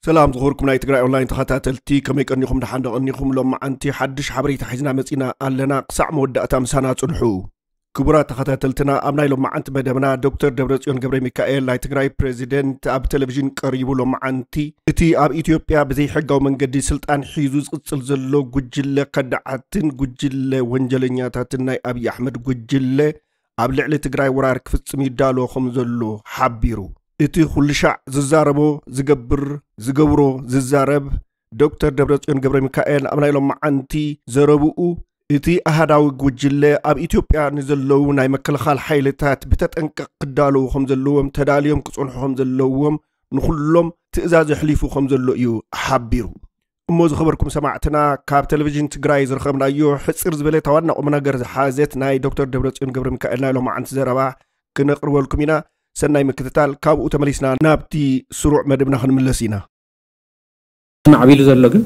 ሰላም ዝኸበርኩም ናይ ትግራይ ኦንላይን ተኸታተልቲ፣ ከመይ ቀኒኹም? ደሓን ዶ ቀኒኹም? ሎማዓንቲ ሓድሽ ሓበሬታ ሒዝና መጺና ኣለና። ክሳዕ መወዳእታ ምሳና ጽንሑ። ክቡራት ተኸታተልትና፣ ኣብ ናይ ሎማዓንቲ መደብና ዶክተር ደብረጽዮን ገብረ ሚካኤል ናይ ትግራይ ፕሬዚደንት ኣብ ቴሌቪዥን ቀሪቡ። ሎማዓንቲ እቲ ኣብ ኢትዮጵያ ብዘይሕጋዊ መንገዲ ስልጣን ሒዙ ዝቕጽል ዘሎ ጉጅለ ከዳዓትን ጉጅለ ወንጀለኛታትን ናይ ኣብይ ኣሕመድ ጉጅለ ኣብ ልዕሊ ትግራይ ወራር ክፍጽም ይዳሎ ከም ዘሎ ሓቢሩ። እቲ ኩሉ ሻዕ ዝዛረቦ፣ ዝገብር፣ ዝገብሮ፣ ዝዛረብ ዶክተር ደብረጽዮን ገብረ ሚካኤል ኣብ ናይ ሎማዓንቲ ዘረብኡ፣ እቲ ኣሃዳዊ ጉጅለ ኣብ ኢትዮጵያ ንዘለዉ ናይ መከልኻል ሓይልታት ብተጠንቀቕ ክዳለዉ ከም ዘለዎም፣ ተዳልዮም ክጸንሑ ከም ዘለዎም፣ ንኹሎም ትእዛዝ ኣሕሊፉ ከም ዘሎ እዩ ሓቢሩ። እሞ ዝኸበርኩም ሰማዕትና፣ ካብ ቴሌቪዥን ትግራይ ዝረኸብናዮ ሕጽር ዝበለ ዋና ቁም ነገር ዝሓዘት ናይ ዶክተር ደብረጽዮን ገብረ ሚካኤል ናይ ሎማዓንቲ ዘረባ ክነቕርበልኩም ኢና። ሰናይ ምክትታል። ካብኡ ተመሊስና ናብቲ ስሩዕ መደብና ክንምለስ ኢና። ማዕቢሉ ዘሎ ግን፣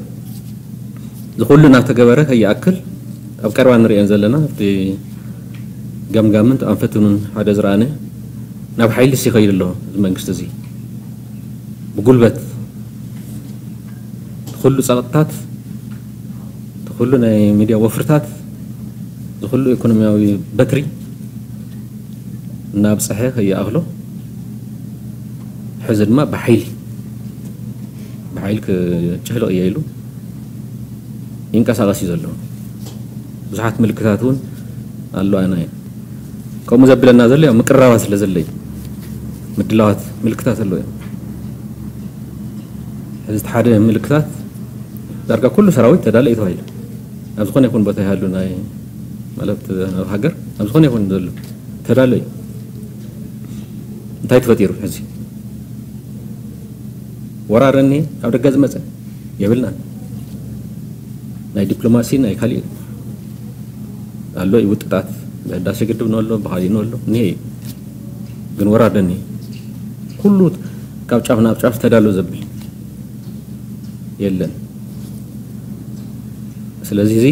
ዝኹሉ እናተገበረ ከይኣክል፣ ኣብ ቀረባ ንርእየን ዘለና፣ ኣብቲ ገምጋምን ኣንፈቱን ሓደ ዝረኣነ፣ ናብ ሓይሊ ይኸይድ ኣሎ። እዚ መንግስቲ እዚ ብጉልበት፣ እቲ ኩሉ ጸቕጥታት፣ እቲ ኩሉ ናይ ሚድያ ወፍርታት፣ እዚ ኩሉ ኢኮኖሚያዊ በትሪ እናብፀሐ ከይኣኽሎ፣ ሕዚ ድማ ብሓይሊ፣ ብሓይሊ ክጭፍልቕ እየ ኢሉ ይንቀሳቐስ እዩ ዘሎ። ብዙሓት ምልክታት እውን ኣሎ። ኣነ ከምኡ ዘብለና ዘሎ፣ ያው፣ ምቅርራባት ስለ ዘሎ እዩ። ምድላዋት ምልክታት ኣሎ እዮም። ሕዚ እቲ ሓደ ምልክታት፣ ዳርጋ ኩሉ ሰራዊት ተዳለ እዩ ተባሂሉ። ኣብ ዝኾነ ይኹን ቦታ ይሃሉ፣ ናይ፣ ማለት፣ ኣብ ሃገር፣ ኣብ ዝኾነ ይኹን ዘሎ ተዳለ እዩ። እንታይ ተፈጢሩ ሕዚ? ወራር እኒ ካብ ደገ ዝመፀ የብልናን። ናይ ዲፕሎማሲ፣ ናይ ካሊእ ኣሎ እዩ፣ ውጥጣት፣ ብህዳሴ ግድብ ንበሎ፣ ብኻሊእ ንበሎ፣ እኒሀ እዩ። ግን ወራር እኒ ኩሉ ካብ ጫፍ ናብ ጫፍ ተዳሎ ዘብል የለን። ስለዚ እዚ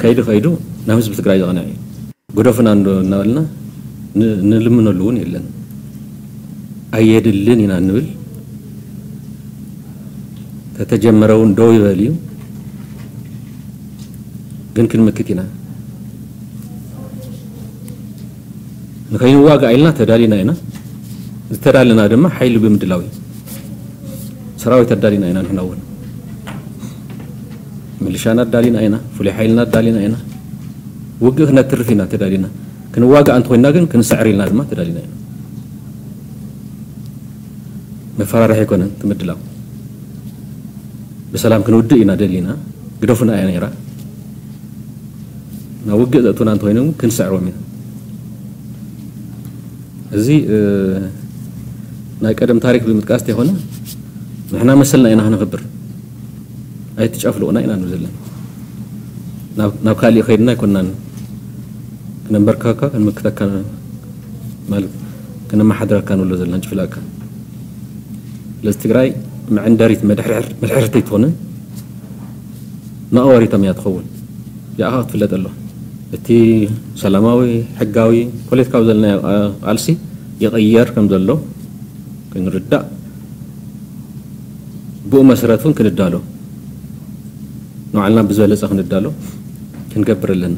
ከይዱ ከይዱ ናብ ህዝቢ ትግራይ ዘቕንዕ እዩ። ግደፉና እንዶ እናበልና ን-፣ ንልምነሉ እውን የለን። ኣየድልን ኢና እንብል። ተተጀመረ እውን ደው ይበል እዩ። ግን ክንምክት ኢና። ንኸይንዋጋእ ኢልና ተዳሊና ኢና። ዝተዳለና ድማ ሓይሊ ብምድላው እዩ። ሰራዊት ኣዳሊና ኢና። ንሕና እውን ምልሻና ኣዳሊና ኢና። ፍሉይ ሓይልና ኣዳሊና ኢና። ውግእ ክነትርፍ ኢና ተዳሊና። ክንዋጋእ እንተኮይና ግን ክንስዕር ኢልና ድማ ተዳሊና ኢና። መፈራርሒ ኣይኮነን እቲ ምድላው። ብሰላም ክንውድእ ኢና ደሊና። ግደፉና እያ ነይራ። ናብ ውግእ ዘእቱና እንተኮይኖም ክንስዕሮም ኢና። እዚ፣ እ፣ ናይ ቀደም ታሪክ ብምጥቃስ እንተይኮነ፣ ንሕና መሰልና ኢና ክነኽብር። ኣይትጨፍልቑና ኢና ንብል ዘለና። ናብ፣ ናብ ካሊእ ከይድና ኣይኮናን ክነንበርከካ፣ ክንምክተካ፣ ማለት፣ ክነመሓድረካ ንብሎ ዘለና፣ ንጭፍላካ። ስለዚ ትግራይ መዐንደሪት፣ መድሕርሕር-፣ መድሕርቲ ኣይትኾንን፣ መቐበሪቶም እያ ትኸውን። ያኣ ክትፍለጥ ኣለዋ። እቲ ሰላማዊ፣ ሕጋዊ፣ ፖለቲካዊ ዘለናዮ፣ ኣ-፣ ቃልሲ ይቕየር ከም ዘሎ ክንርዳእ፣ ብኡ መሰረት እውን ክንዳሎ፣ ንባዕልና ብዝበለጸ ክንዳሎ ክንገብር ኣለና።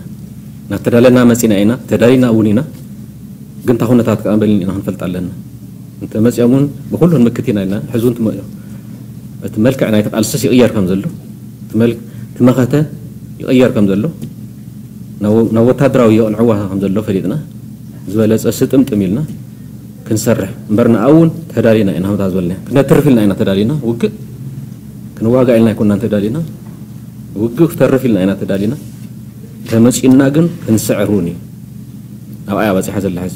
ናብ ተዳለና መጺና ኢና፣ ተዳሊና እውን ኢና። ግን እታ ኩነታት ከኣ በሊና ኢና ክንፈልጥ ኣለና። እንተ መጺኦም እውን ብኹሉ ክንምክት ኢና ኢልና፣ ሕዚ እውን ትመ-፣ እቲ መልክዕ ናይቲ ቃልስስ ይቕየር ከም ዘሎ፣ እቲ መል-፣ እቲ መኸተ ይቕየር ከም ዘሎ፣ ናብ ወ-፣ ናብ ወታደራዊ የቕንዕዋ ከም ዘሎ ፈሊጥና፣ ዝበለጸ ስጥምጥም ኢልና ክንሰርሕ እምበር፣ ንኣ እውን ተዳሊና ኢና፣ ከምታ ዝበልና፣ ክነትርፍ ኢልና ኢና ተዳሊና፣ ውግእ ክንዋጋእ ኢልና ኣይኮናን ተዳሊና፣ ውግእ ክተርፍ ኢልና ኢና ተዳሊና። ተመጺኡና ግን ክንስዕር እውን እዩ። ኣብኣ እያ በጺሓ ዘላ ሕዚ።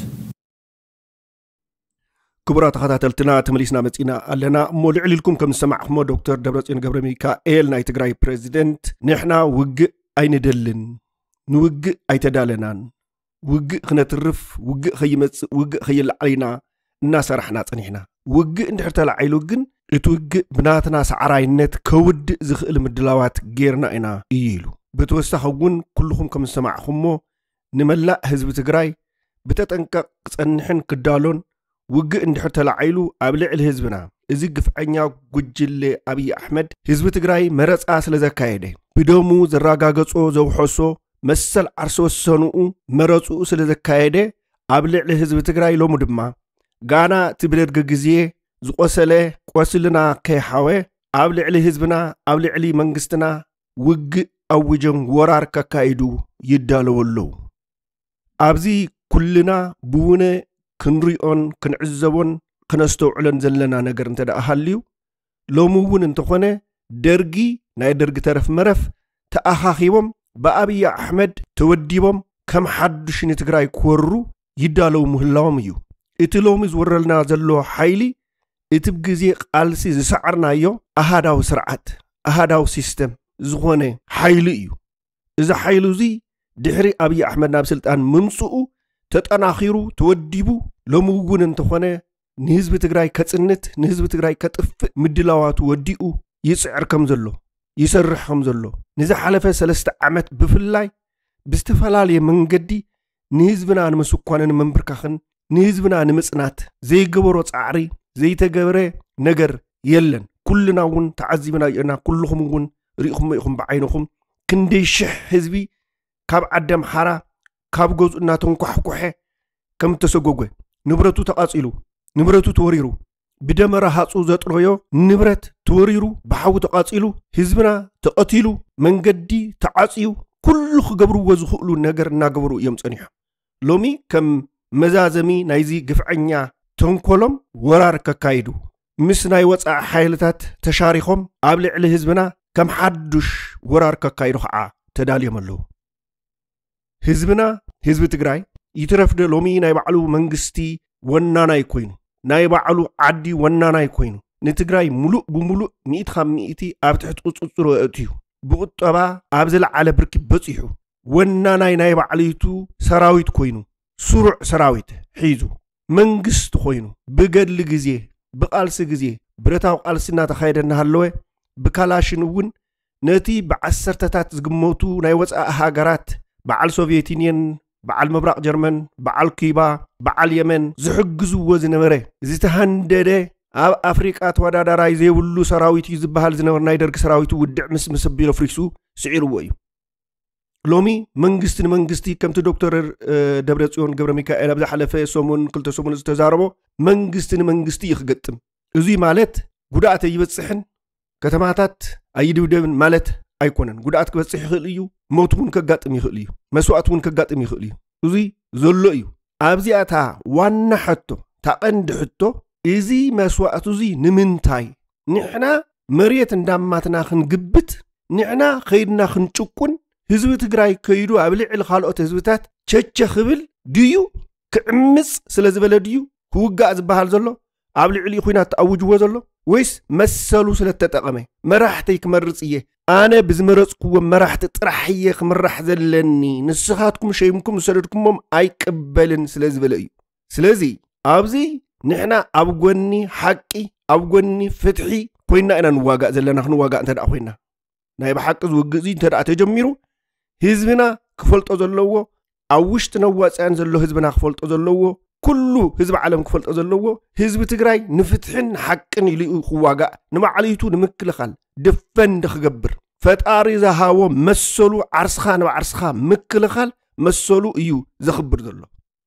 ክቡራት ተኸታተልትና፣ ተመሊስና መጺና ኣለና። እሞ ልዕል ኢልኩም ከም ዝሰማዕኹሞ፣ ዶክተር ደብረጽዮን ገብረ ሚካኤል፣ ናይ ትግራይ ፕሬዚደንት፣ ንሕና ውግእ ኣይንደልን፣ ንውግእ ኣይተዳለናን፣ ውግእ ክነትርፍ፣ ውግእ ከይመጽእ፣ ውግእ ከይለዓል ኢና እናሰራሕና ጸኒሕና። ውግእ እንድሕር ተላዒሉ ግን፣ እቲ ውግእ ብናትና ሰዓራይነት ከውድእ ዝኽእል ምድላዋት ጌርና ኢና እዩ ኢሉ። ብተወሳኺ እውን፣ ኩልኹም ከም ዝሰማዕኹሞ፣ ንመላእ ህዝቢ ትግራይ ብተጠንቀቕ ክጸንሕን ክዳሎን፣ ውግእ እንድሕር ተላዒሉ ኣብ ልዕሊ ህዝብና፣ እዚ ግፍዐኛ ጉጅለ ኣብይ ኣሕመድ ህዝቢ ትግራይ መረፃ ስለ ዘካየደ፣ ብደሙ ዘረጋገጾ ዘውሐሶ መሰል ዓርሰ ወሰንኡ መረፅኡ ስለ ዘካየደ፣ ኣብ ልዕሊ ህዝቢ ትግራይ ሎሚ ድማ ጋና እቲ ብደርጊ ግዜ ዝቆሰለ ቆስልና ከይሓወ ኣብ ልዕሊ ህዝብና ኣብ ልዕሊ መንግስትና ውግእ ኣውጀን ወራር ከካይዱ ይዳለዉ ኣለዉ። ኣብዚ ኩልና ብውነ ክንሪኦን ክንዕዘቦን ክነስተውዕሎን ዘለና ነገር እንተ ደኣ ሃልዩ፣ ሎሚ እውን እንተኾነ ደርጊ፣ ናይ ደርጊ ተረፍ መረፍ ተኣኻኺቦም ብኣብይ ኣሕመድ ተወዲቦም ከም ሓዱሽ ንትግራይ ክወሩ ይዳለዉ ምህላዎም እዩ። እቲ ሎሚ ዝወረልና ዘሎ ሓይሊ እቲ ብግዜ ቃልሲ ዝሰዓርናዮ ኣሃዳዊ ስርዓት፣ ኣሃዳዊ ሲስተም ዝኾነ ሓይሊ እዩ። እዚ ሓይሊ እዚ ድሕሪ ኣብይ ኣሕመድ ናብ ስልጣን ምምፅኡ ተጠናኺሩ ተወዲቡ ሎሚ እውን እንተኾነ ንህዝቢ ትግራይ ከፅንት፣ ንህዝቢ ትግራይ ከጥፍእ ምድላዋቱ ወዲኡ ይፅዕር ከም ዘሎ፣ ይሰርሕ ከም ዘሎ፣ ንዝሓለፈ ሰለስተ ዓመት ብፍላይ ብዝተፈላለየ መንገዲ ንህዝብና ንምስኳንን ምንብርካኽን፣ ንህዝብና ንምፅናት ዘይገበሮ ፃዕሪ፣ ዘይተገበረ ነገር የለን። ኩልና እውን ተዓዚብናዮ ኢና። ኩልኹም እውን ርኢኹሞ ኢኹም ብዓይንኹም ክንደይ ሽሕ ህዝቢ ካብ ዓዲ ኣምሓራ ካብ ገዝኡ እናተንኳሕኩሐ ከም እተሰጎገ፣ ንብረቱ ተቓፂሉ፣ ንብረቱ ተወሪሩ፣ ብደመራ ሃፁ ዘጥረዮ ንብረት ተወሪሩ፣ ብሓዊ ተቓፂሉ፣ ህዝብና ተቐቲሉ፣ መንገዲ ተዓፅዩ፣ ኩሉ ክገብርዎ ዝኽእሉ ነገር እናገበሩ እዮም ፀኒሖም። ሎሚ ከም መዛዘሚ ናይዚ ግፍዐኛ ተንኮሎም ወራር ከካይዱ፣ ምስ ናይ ወፃኢ ሓይልታት ተሻሪኾም ኣብ ልዕሊ ህዝብና ከም ሓዱሽ ወራር ከካይዱ ከዓ ተዳልዮም ኣለዉ። ህዝብና፣ ህዝቢ ትግራይ ይትረፍዶ ሎሚ ናይ ባዕሉ መንግስቲ ወናናይ ኮይኑ፣ ናይ ባዕሉ ዓዲ ወናናይ ኮይኑ፣ ንትግራይ ሙሉእ ብሙሉእ ሚእቲ ካብ ሚእቲ ኣብ ትሕቲ ቁፅፅሩ ኣእትዩ፣ ብቁጠባ ኣብ ዝለዓለ ብርኪ በፂሑ፣ ወናናይ ናይ ባዕለይቱ ሰራዊት ኮይኑ፣ ስሩዕ ሰራዊት ሒዙ፣ መንግስቲ ኮይኑ፣ ብገድሊ ግዜ፣ ብቃልሲ ግዜ፣ ብረታዊ ቃልሲ እናተኻየደ እናሃለወ፣ ብካላሽን እውን ነቲ ብዓሰርተታት ዝግመቱ ናይ ወፃኢ ሃገራት፣ በዓል ሶቪየት ዩኒየን፣ በዓል ምብራቕ ጀርመን፣ በዓል ኩባ፣ በዓል የመን ዝሕግዝዎ ዝነበረ ዝተሃንደደ፣ ኣብ ኣፍሪቃ ተወዳዳራይ ዘይብሉ ሰራዊት እዩ ዝበሃል ዝነበረ ናይ ደርጊ ሰራዊት ውድዕ ምስ ምስ ኣቢሉ ኣፍሪሱ ስዒርዎ እዩ። ሎሚ መንግስቲ ንመንግስቲ ከምቲ ዶክተር፣ እ፣ ደብረጽዮን ገብረ ሚካኤል ኣብ ዝሓለፈ ሰሙን፣ ክልተ ሰሙን ዝተዛረቦ፣ መንግስቲ ንመንግስቲ እዩ ክገጥም። እዙይ ማለት ጉድኣት ኣይበጽሕን፣ ከተማታት ኣይድብደብን ማለት ኣይኮነን። ጉድኣት ክበጽሕ ይኽእል እዩ፣ ሞት እውን ከጋጥም ይኽእል እዩ፣ መስዋእቲ እውን ከጋጥም ይኽእል እዩ። እዙይ ዘሎ እዩ። ኣብዚኣ እታ ዋና ሕቶ፣ እታ ቀንዲ ሕቶ፣ እዚ መስዋእቲ እዙይ ንምንታይ? ንሕና መሬት እንዳማትና ክንግብት፣ ንሕና ኸይድና ክንጭቁን፣ ህዝቢ ትግራይ ከይዱ ኣብ ልዕሊ ካልኦት ህዝብታት ቸቸ ክብል ድዩ? ክዕምፅ ስለ ዝበለ ድዩ ክውጋእ ዝበሃል ዘሎ? ኣብ ልዕሊኡ ኹናት ተኣውጅዎ ዘሎ? ወይስ መሰሉ ስለ እተጠቐመ? መራሕተይ ክመርፅ እየ፣ ኣነ ብዝመረፅክዎም መራሕቲ ጥራሕ እየ ክምራሕ ዘለኒ፣ ንስኻትኩም ሸይምኩም ዝሰደድኩሞም ኣይቅበልን ስለ ዝበለ እዩ። ስለዚ ኣብዚ ንሕና ኣብ ጎኒ ሓቂ፣ ኣብ ጎኒ ፍትሒ ኮይና ኢና ንዋጋእ ዘለና። ክንዋጋእ እንተ ደኣ ኮይና፣ ናይ ብሓቂ ዝውግእ እዚ እንተ ደኣ ተጀሚሩ፣ ህዝብና ክፈልጦ ዘለዎ፣ ኣብ ውሽጥን ኣብ ወፃእን ዘሎ ህዝብና ክፈልጦ ዘለዎ፣ ኩሉ ህዝቢ ዓለም ክፈልጦ ዘለዎ፣ ህዝቢ ትግራይ ንፍትሕን ንሓቅን ኢሉ እዩ ክዋጋእ፣ ንባዕለይቱ ንምክልኻል ደፈንድ ክገብር፣ ፈጣሪ ዝሃቦ መሰሉ፣ ዓርስኻ ንባዕርስኻ ምክልኻል መሰሉ እዩ ዘኽብር ዘሎ።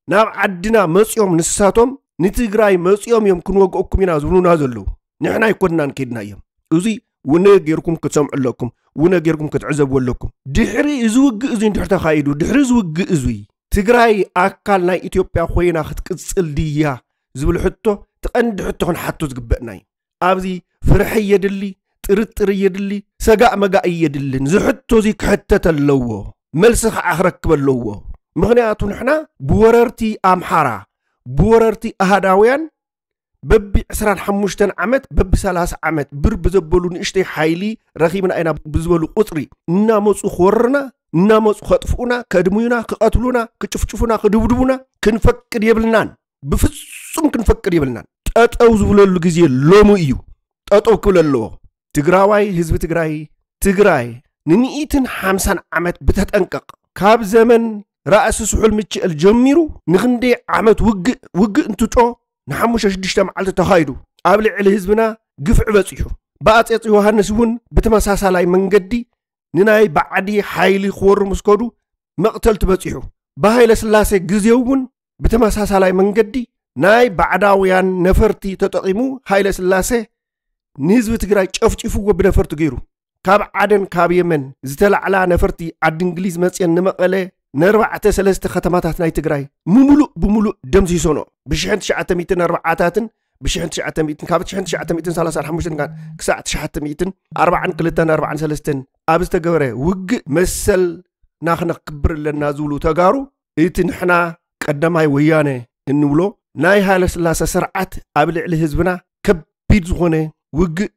ናብ ዓድና መፂኦም ንሳቶም ንትግራይ መፂኦም እዮም ክንወግኦኩም ኢና ዝብሉና ዘለዉ። ንሕና ኣይኮንናን ከይድናዮም። እዚ ውነ ጌርኩም ክትሰምዑ ኣለኩም፣ ውነ ጌርኩም ክትዕዘቡ ኣለኩም። ድሕሪ እዚ ውግእ እዚ እንድሕር ተኻይዱ፣ ድሕሪ እዚ ውግእ እዚ ትግራይ ኣካል ናይ ኢትዮጵያ ኮይና ክትቅፅል ድያ ዝብል ሕቶ እቲ ቀንዲ ሕቶ ክንሓቶ ዝግበእና እዩ። ኣብዚ ፍርሒ የድሊ፣ ጥርጥር የድሊ፣ ሰጋእ መጋእ የድልን። እዚ ሕቶ እዚ ክሕተት ኣለዎ፣ መልሲ ከዓ ክረክብ ኣለዎ። ምኽንያቱ ንሕና ብወረርቲ ኣምሓራ፣ ብወረርቲ ኣሃዳውያን በቢ ዕስራን ሓሙሽተን ዓመት፣ በቢ ሰላሳ ዓመት ብር ብዘበሉ ንእሽተይ ሓይሊ ረኺብና ኢና ብዝበሉ ቁፅሪ እናመፁ ክወርና፣ እናመፁ ከጥፍኡና፣ ከድምዩና፣ ክቐትሉና፣ ክጭፍጭፉና፣ ክድብድቡና ክንፈቅድ የብልናን። ብፍጹም ክንፈቅድ የብልናን። ጠጠው ዝብለሉ ግዜ ሎሚ እዩ። ጠጠው ክብል ኣለዎ። ትግራዋይ፣ ህዝቢ ትግራይ፣ ትግራይ ንሚእትን ሓምሳን ዓመት ብተጠንቀቕ፣ ካብ ዘመን ራእሲ ስሑል ምችእል ጀሚሩ ንኽንደይ ዓመት ውግእ፣ ውግእ እንትጮ ንሓሙሽተ ሽዱሽተ መዓልቲ ተኻይዱ። ኣብ ልዕሊ ህዝብና ግፍዒ በጺሑ። ብኣጼ ዮሃንስ እውን ብተመሳሳላይ መንገዲ ንናይ ባዕዲ ሓይሊ ክወሩ ምስ ከዱ መቕተልቲ በጺሑ። ብሃይለ ስላሴ ግዜ እውን ብተመሳሳላይ መንገዲ ናይ ባዕዳውያን ነፈርቲ ተጠቒሙ ሃይለ ስላሴ ንህዝቢ ትግራይ ጨፍጭፍዎ ብነፈርቲ ገይሩ። ካብ ዓደን ካብ የመን ዝተላዕላ ነፈርቲ ዓዲ እንግሊዝ መፅየን ንመቐለ ነርባዕተ ሰለስተ ከተማታት ናይ ትግራይ ምሙሉእ ብምሉእ ደምሲሶኖ። ብሽሕን ትሽዓተ ሚእትን ኣርባዓታትን ብሽሕን ትሽዓተ ሚእትን ካብ ሽሕን ትሽዓተ ሚእትን ሰላሳን ሓሙሽተን ክሳዕ ትሽዓተ ሚእትን ኣርባዓን ክልተን ኣርባዓን ሰለስተን ኣብ ዝተገበረ ውግእ መሰልና ክነክብር ኣለና ዝብሉ ተጋሩ እቲ ንሕና ቀዳማይ ወያነ እንብሎ ናይ ሃይለ ስላሴ ስርዓት ኣብ ልዕሊ ህዝብና ከቢድ ዝኾነ ውግእ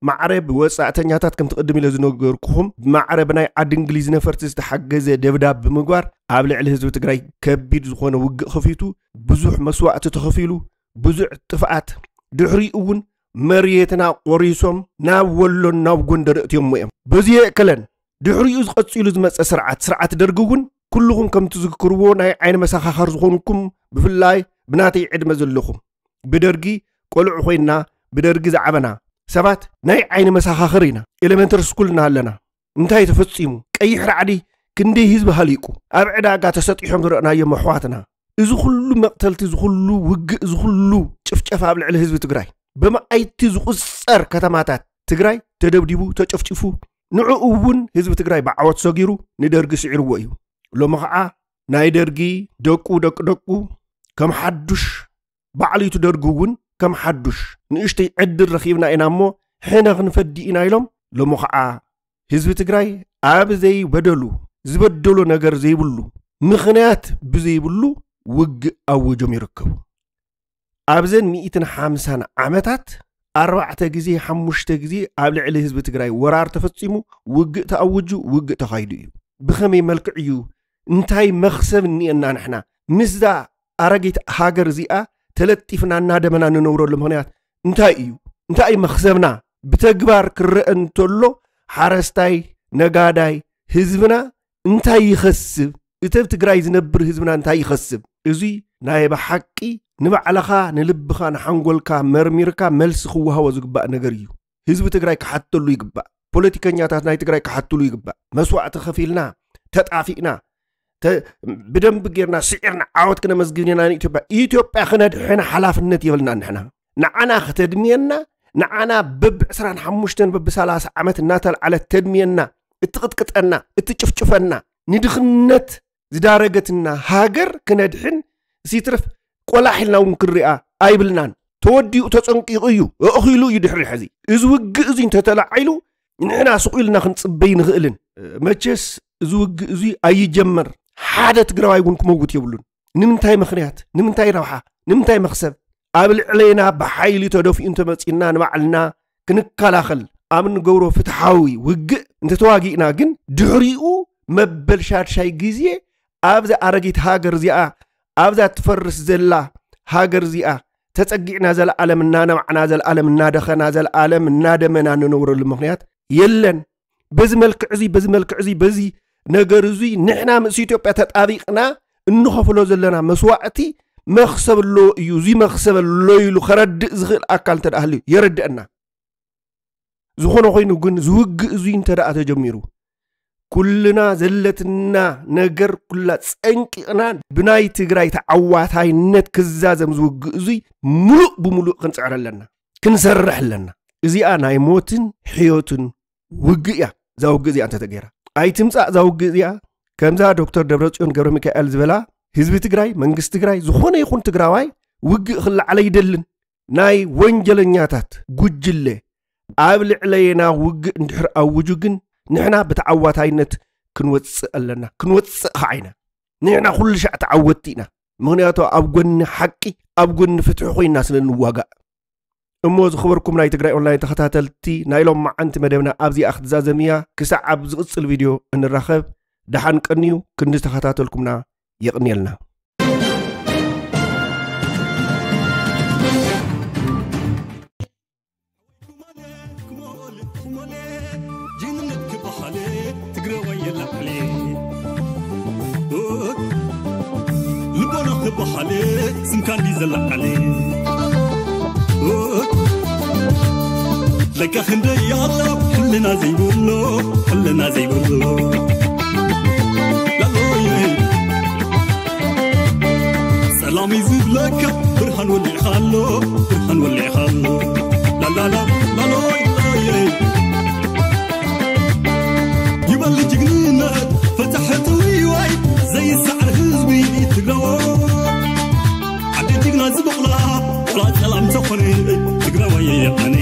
ማዕረ ብወጻእተኛታት ከምቲ ቅድም ኢለ ዝነገርኩኹም ብማዕረ ብናይ ዓዲ እንግሊዝ ነፈርቲ ዝተሓገዘ ደብዳብ ብምግባር ኣብ ልዕሊ ህዝቢ ትግራይ ከቢድ ዝኾነ ውግእ ከፊቱ ብዙሕ መስዋእቲ ተኸፊሉ ብዙሕ ጥፍኣት ድሕሪኡ እውን መሬትና ቆሪሶም ናብ ወሎን ናብ ጎንደር እትዮሞ እዮም። በዚ የእከለን ድሕሪኡ ዝቐጺሉ ዝመጸ ስርዓት ስርዓት ደርጊ እውን ኩልኹም ከም ትዝክርዎ ናይ ዓይኒ መሰኻኸር ዝኾንኩም ብፍላይ ብናተይ ዕድመ ዘለኹም ብደርጊ ቆልዑ ኮይንና ብደርጊ ዝዓበና ሰባት ናይ ዓይኒ መሰኻኽር ኢና። ኤሌመንተሪ ስኩል እናሃለና እንታይ ተፈጺሙ? ቀይሕ ራዕዲ ክንደይ ህዝቢ ሃሊቁ ኣብ ዕዳጋ ተሰጢሖም ዝረእናዮም ኣሕዋትና እዚ ኩሉ መቕተልቲ እዚ ኩሉ ውግእ እዚ ኩሉ ጭፍጨፋ ኣብ ልዕሊ ህዝቢ ትግራይ ብመኣይቲ ዝቑጸር ከተማታት ትግራይ ተደብዲቡ ተጨፍጭፉ ንዕኡ እውን ህዝቢ ትግራይ ብዓወት ሰጊሩ ንደርጊ ስዒርዎ እዩ። ሎሚ ከዓ ናይ ደርጊ ደቁ ደቂ ደቁ ከም ሓዱሽ ባዕሉ እቲ ደርጊ እውን ከም ሓዱሽ ንእሽተይ ዕድል ረኺብና ኢና እሞ ሕነ ክንፈዲ ኢና ኢሎም ሎሚ ከዓ ህዝቢ ትግራይ ኣብ ዘይበደሉ ዝበደሎ ነገር ዘይብሉ ምኽንያት ብዘይብሉ ውግእ ኣውጆም ይርከቡ። ኣብዘን ሚእትን ሓምሳን ዓመታት ኣርባዕተ ግዜ ሓሙሽተ ግዜ ኣብ ልዕሊ ህዝቢ ትግራይ ወራር ተፈፂሙ ውግእ ተኣውጁ ውግእ ተኻይዱ እዩ። ብኸመይ መልክዕ እዩ እንታይ መኽሰብ እኒኤና ንሕና ምስዛ ኣረጊት ሃገር እዚኣ ተለጢፍና እናደመና ንነብረሉ ምኽንያት እንታይ እዩ? እንታይ እዩ መኽሰብና? ብተግባር ክረአ እንተሎ ሓረስታይ፣ ነጋዳይ፣ ህዝብና እንታይ ይኸስብ? እቲ ኣብ ትግራይ ዝነብር ህዝብና እንታይ ይኸስብ? እዙይ ናይ ብሓቂ ንባዕልኻ ንልብኻ ንሓንጎልካ መርሚርካ መልሲ ክወሃቦ ዝግባእ ነገር እዩ። ህዝቢ ትግራይ ክሓተሉ ይግባእ። ፖለቲከኛታት ናይ ትግራይ ክሓትሉ ይግባእ። መስዋዕቲ ከፊልና ተጣፊእና ብደንቢ ጌርና ስዒርና ዓወት ክነመዝግብ ኢና ንኢትዮጵያ ኢትዮጵያ ክነድሕን ሓላፍነት የብልና ንሕና ንዓና ከተድምየና ንዓና በብ ዕስራን ሓሙሽተን በብ ሰላሳ ዓመት እናተልዓለት ተድምየና እትቕጥቅጠና እትጭፍጭፈና ንድኽነት ዝዳረገትና ሃገር ክነድሕን ሲትርፍ ቆላሕ ኢልና እውን ክንሪኣ ኣይብልናን ተወዲኡ ተፀንቂቑ እዩ ኣእኺሉ እዩ ድሕሪ ሕዚ እዚ ውግእ እዚ እንተተላዒሉ ንሕና ስቕ ኢልና ክንፅበይ ንኽእልን መቸስ እዚ ውግእ እዚ ኣይጀመር ሓደ ትግራዋይ እውን ክመውት የብሉን ንምንታይ ምኽንያት ንምንታይ ረብሓ ንምንታይ መኽሰብ ኣብ ልዕለና ብሓይሊ ተደፊኡ እንተመፂና ንባዕልና ክንከላኸል ኣብ እንገብሮ ፍትሓዊ ውግእ እንተተዋጊእና ግን ድሕሪኡ መበል ሻድሻይ ግዜ ኣብዛ ኣረጊት ሃገር እዚኣ ኣብዛ ትፈርስ ዘላ ሃገር እዚኣ ተጸጊዕና ዘለዓለም እናነባዕና ዘለዓለም እናደኸና ዘለዓለም እናደመና እንነብረሉ ምኽንያት የለን። በዚ መልክዕ እዚ በዚ መልክዕ እዚ በዚ ነገር እዚ ንሕና ምስ ኢትዮጵያ ተጣቢቕና እንኸፍሎ ዘለና መስዋዕቲ መኽሰብ ኣለዎ እዩ። እዚ መኽሰብ ኣሎ ኢሉ ከረድእ ዝኽእል ኣካል እንተ ደኣ ሃልዩ የረድአና። ዝኾነ ኮይኑ ግን ዝውግእ እዙይ እንተ ደኣ ተጀሚሩ ኩልና ዘለትና ነገር ኩላ ጸንቂቕና ብናይ ትግራይ ተዓዋታይነት ክዛዘም ዝውግእ እዙይ ሙሉእ ብሙሉእ ክንጽዕር ኣለና፣ ክንሰርሕ ኣለና። እዚኣ ናይ ሞትን ሕዮትን ውግእ እያ። እዛ ውግእ እዚኣ እንተተገይራ ኣይትምጻእ። እዛ ውግእ እዚኣ ከምዛ ዶክተር ደብረጽዮን ገብረ ሚካኤል ዝበላ ህዝቢ ትግራይ፣ መንግስቲ ትግራይ፣ ዝኾነ ይኹን ትግራዋይ ውግእ ክለዓል ኣይደልን። ናይ ወንጀለኛታት ጉጅለ ኣብ ልዕለየና ውግእ እንድሕር ኣውጁ ግን ንሕና ብተዓዋታይነት ክንወፅእ ኣለና። ክንወፅእ ከዓ ኢና። ንሕና ኩሉ ሻዕ ተዓወትቲ ኢና። ምኽንያቱ ኣብ ጎኒ ሓቂ ኣብ ጎኒ ፍትሒ ኮይና ስለ ንዋጋእ። እሞ ዝኽበርኩም ናይ ትግራይ ኦንላይን ተኸታተልቲ ናይ ሎም መዓንቲ መደብና ኣብዚኣ ክትዛዘም እያ። ክሳዕ ኣብ ዝቕፅል ቪድዮ እንራኸብ ደሓን ቀንዩ። ክንዲ ዝተኸታተልኩምና የቕንየልና። ልቦና ክበሃል ስምካ እንዲ ዘለዓለ እካ ክንደይ ኣሎ ሕልና ዘይብሉ፣ ሕልና ዘይብሉ። ላሎየ ሰላም እዩ ዝብለካ፣ ብርሃን ወሊዕኻ ኣሎ፣ ብርሃን ወሊዕኻ ኣሎ። ላላላ ላሎየ ይበል ጅግንነት፣ ፈታሕቲ ውይዋይ ዘይሰዓር ህዝቢ ትግራዎ። ዓዲ ጅግና ዝበቕላ ቆላ ሰላም ዝኾነ ትግራዋይ ኣነ።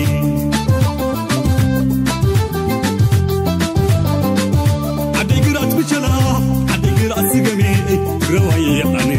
ዓዲ ግራት ብቸላ፣ ዓዲ ግራት ስገሜ ትግራዋይ ኣነ።